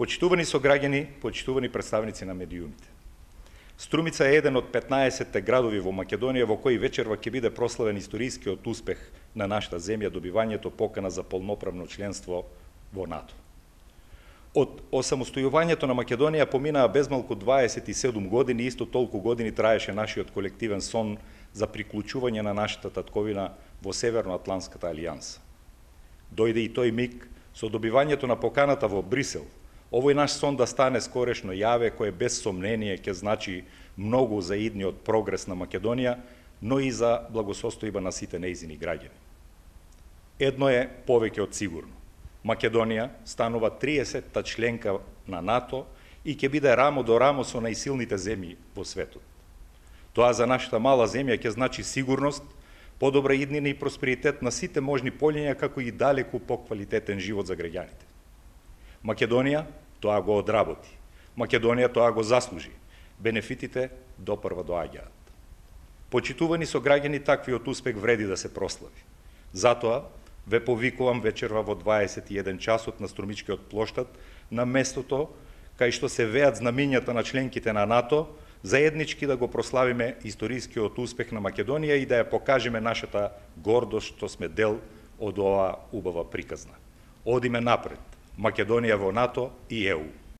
Почитувани сограѓани, почитувани представници на медиумите. Струмица е еден од 15 градови во Македонија во кои вечерва ќе биде прославен историскиот успех на нашата земја, добивањето покана за полноправно членство во НАТО. Од осамостојувањето на Македонија поминаа безмалку 27 години, исто толку години траеше нашиот колективен сон за приклучување на нашата татковина во Северноатлантската алијанса. Дојде и тој миг со добивањето на поканата во Брисел. Овој наш сон да стане скорешно јаве, кое без сомнение ќе значи многу за идниот прогрес на Македонија, но и за благосостојба на сите нејзини граѓани. Едно е повеќе од сигурно. Македонија станува 30-та членка на НАТО и ќе биде рамо до рамо со најсилните земји во светот. Тоа за нашата мала земја ќе значи сигурност, подобра иднина и просперитет на сите можни полиња, како и далеку поквалитетен живот за граѓаните. Македонија тоа го одработи. Македонија тоа го заслужи. Бенефитите допрва доаѓаат. Почитувани сограѓани, таквиот успех вреди да се прослави. Затоа ве повикувам вечерва во 21 часот на Струмичкиот плоштад, на местото кај што се веат знамињата на членките на НАТО, заеднички да го прославиме историскиот успех на Македонија и да ја покажеме нашата гордост што сме дел од оваа убава приказна. Одиме напред. Македонија во НАТО и ЕУ.